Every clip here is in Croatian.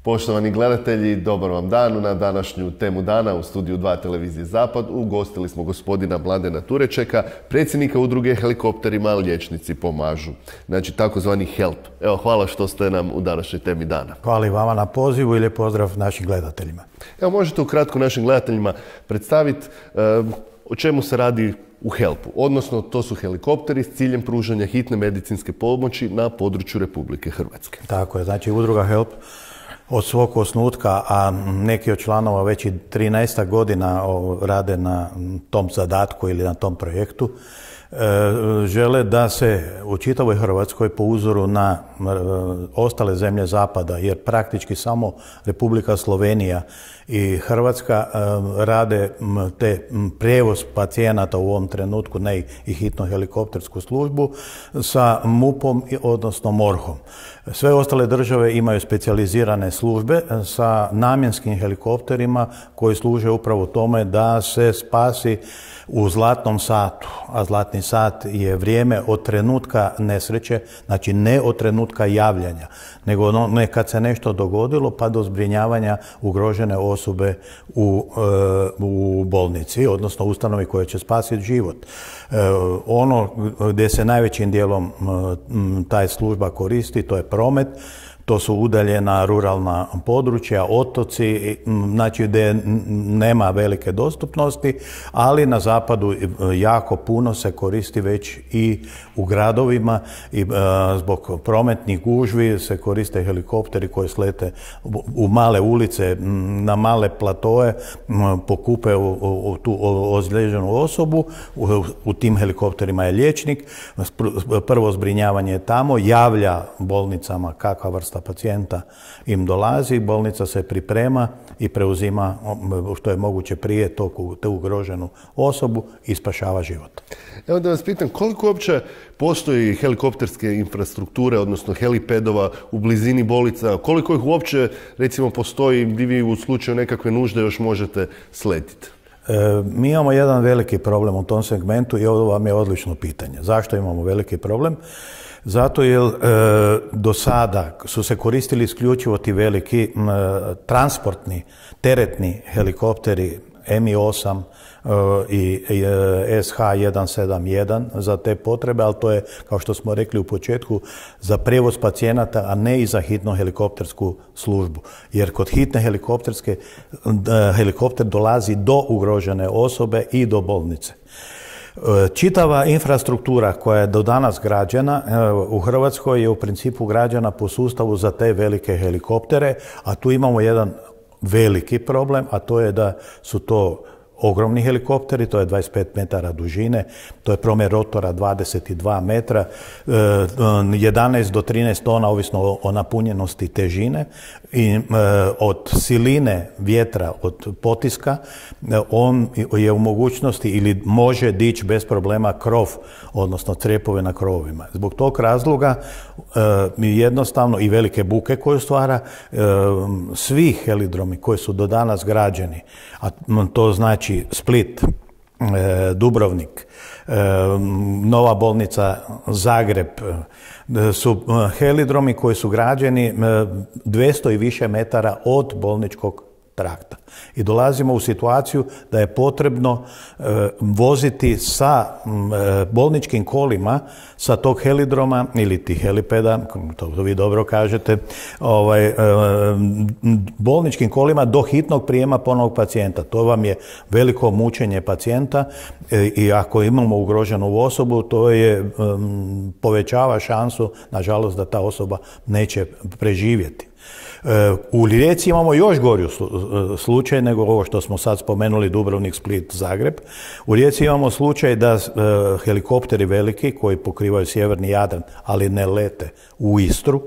Poštovani gledatelji, dobar vam dan. Na današnju temu dana u studiju 2 televizije Zapad ugostili smo gospodina Mladena Turečeka, predsjednika udruge Helikopterima liječnici pomažu. Znači takozvani HELP. Evo, hvala što ste nam u današnjoj temi dana. Hvala i vama na pozivu i lijep pozdrav našim gledateljima. Evo, možete ukratko našim gledateljima predstaviti o čemu se radi u HELP-u, odnosno to su helikopteri s ciljem pružanja hitne medicinske pomoći na području Republike Hrvatske. Tako je, znači udruga HELP od svog osnutka, a neki od članova već i 13 godina rade na tom zadatku ili na tom projektu, žele da se u čitavoj Hrvatskoj po uzoru na ostale zemlje zapada, jer praktički samo Republika Slovenija i Hrvatska rade te prijevoz pacijenata u ovom trenutku, ne i hitnu helikoptersku službu, sa MUP-om, odnosno MORH-om. Sve ostale države imaju specijalizirane službe sa namjenskim helikopterima koji služe upravo tome da se spasi u zlatnom satu, a zlatni sat je vrijeme od trenutka nesreće, znači ne od trenutka javljanja, nego kad se nešto dogodilo pa do zbrinjavanja ugrožene osobe u bolnici, odnosno ustanovi koja će spasiti život. Ono gdje se najvećim dijelom taj služba koristi, to je promet. To su udaljena ruralna područja, otoci, znači gdje nema velike dostupnosti, ali na zapadu jako puno se koristi već i u gradovima i zbog prometnih gužvi se koriste helikopteri koji slete u male ulice, na male platoe, pokupe tu ozlijeđenu osobu. U tim helikopterima je liječnik, prvo zbrinjavanje je tamo, javlja bolnicama kakva vrsta pacijenta im dolazi, bolnica se priprema i preuzima što je moguće prije tu ugroženu osobu i spašava život. Evo da vas pitam, koliko uopće postoji helikopterske infrastrukture, odnosno helipedova u blizini bolnica, koliko ih uopće recimo postoji gdje vi u slučaju nekakve nužde još možete sletiti? Mi imamo jedan veliki problem u tom segmentu i ovo vam je odlično pitanje. Zašto imamo veliki problem? Zato jer do sada su se koristili isključivo ti veliki transportni, teretni helikopteri Mi-8 i SH-171 za te potrebe, ali to je, kao što smo rekli u početku, za prijevoz pacijenata, a ne i za hitnu helikoptersku službu. Jer kod hitne helikopter dolazi do ugrožene osobe i do bolnice. Čitava infrastruktura koja je do danas građena u Hrvatskoj je u principu građena po sustavu za te velike helikoptere, a tu imamo jedan veliki problem, a to je da su to ogromni helikopteri, to je 25 metara dužine, to je promjer rotora 22 metra, 11 do 13 tona, ovisno o napunjenosti težine, i od siline vjetra, od potiska, on je u mogućnosti ili može dići bez problema krov, odnosno crjepove na krovovima. Zbog tog razloga jednostavno i velike buke koju stvara, svi helidromi koji su do danas građeni, a to znači Split, Dubrovnik, nova bolnica Zagreb, su helidromi koji su građeni 200 i više metara od bolničkog trakta. I dolazimo u situaciju da je potrebno voziti sa bolničkim kolima sa tog helidroma ili tih helipeda, to vi dobro kažete, bolničkim kolima do hitnog prijema ponovnog pacijenta. To vam je veliko mučenje pacijenta i ako imamo ugroženu osobu, to je povećava šansu, nažalost, da ta osoba neće preživjeti. U Rijeci imamo još gori slučaj nego ovo što smo sad spomenuli, Dubrovnik, Split, Zagreb. U Rijeci imamo slučaj da helikopteri veliki koji pokrivaju sjeverni Jadran, ali ne lete u Istru,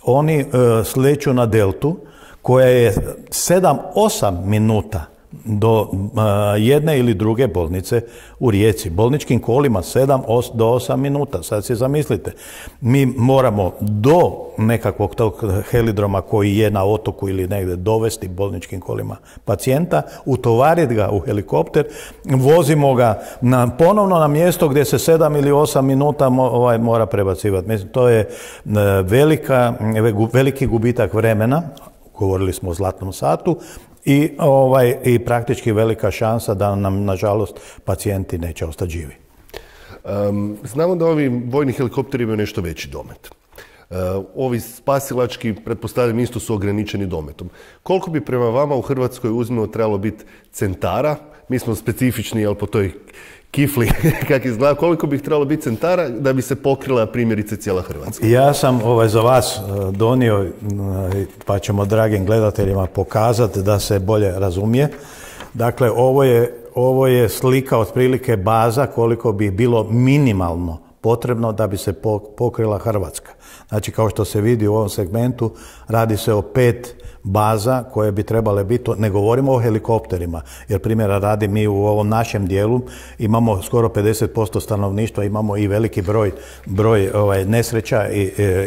oni sleću na deltu koja je 7-8 minuta do jedne ili druge bolnice u Rijeci. Bolničkim kolima 7 do 8 minuta. Sad si zamislite, mi moramo do nekakvog tog helidroma koji je na otoku ili negdje dovesti bolničkim kolima pacijenta, utovariti ga u helikopter, vozimo ga ponovno na mjesto gdje se 7 ili 8 minuta mora prebacivati. Mislim, to je veliki gubitak vremena govorili smo o zlatnom satu, i praktički velika šansa da nam, nažalost, pacijenti neće ostati živi. Znamo da ovi vojni helikopteri imaju nešto veći domet. Ovi spasilački, pretpostavljam, isto su ograničeni dometom. Koliko bi prema vama u Hrvatskoj uzmimo trebalo biti centara? Mi smo specifični, jel, po toj kifli, kak izgleda, koliko bi trebalo biti centara da bi se pokrila primjerice cijela Hrvatska? Ja sam za vas donio, pa ćemo dragim gledateljima pokazati da se bolje razumije. Dakle, ovo je slika otprilike baza koliko bi bilo minimalno potrebno da bi se pokrila Hrvatska. Znači, kao što se vidi u ovom segmentu, radi se o 5 baza koje bi trebale biti, ne govorimo o helikopterima, jer primjera radi mi u ovom našem dijelu imamo skoro 50% stanovništva, imamo i veliki broj nesreća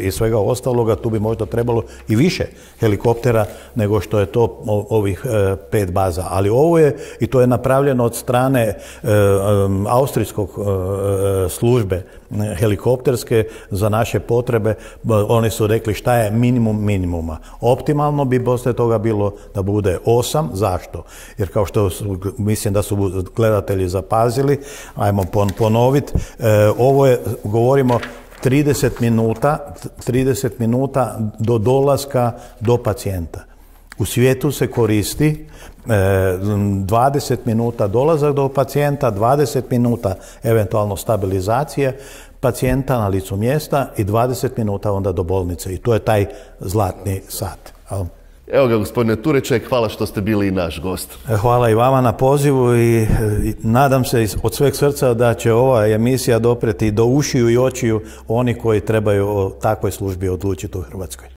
i svega ostaloga, tu bi možda trebalo i više helikoptera nego što je to ovih 5 baza. Ali ovo je, i to je napravljeno od strane austrijskog službe helikopterske za naše potrebe. Oni su rekli šta je minimum minimuma. Optimalno bi poslije toga bilo da bude 8. Zašto? Jer kao što mislim da su gledatelji zapazili, ajmo ponoviti, ovo je, govorimo 30 minuta do dolaska do pacijenta. U svijetu se koristi 20 minuta dolazak do pacijenta, 20 minuta eventualno stabilizacije pacijenta na licu mjesta i 20 minuta onda do bolnice. I to je taj zlatni sat. Evo ga, gospodine Tureček, hvala što ste bili i naš gost. Hvala i vama na pozivu i nadam se od sveg srca da će ova emisija dopreti do ušiju i očiju oni koji trebaju o takvoj službi odlučiti u Hrvatskoj.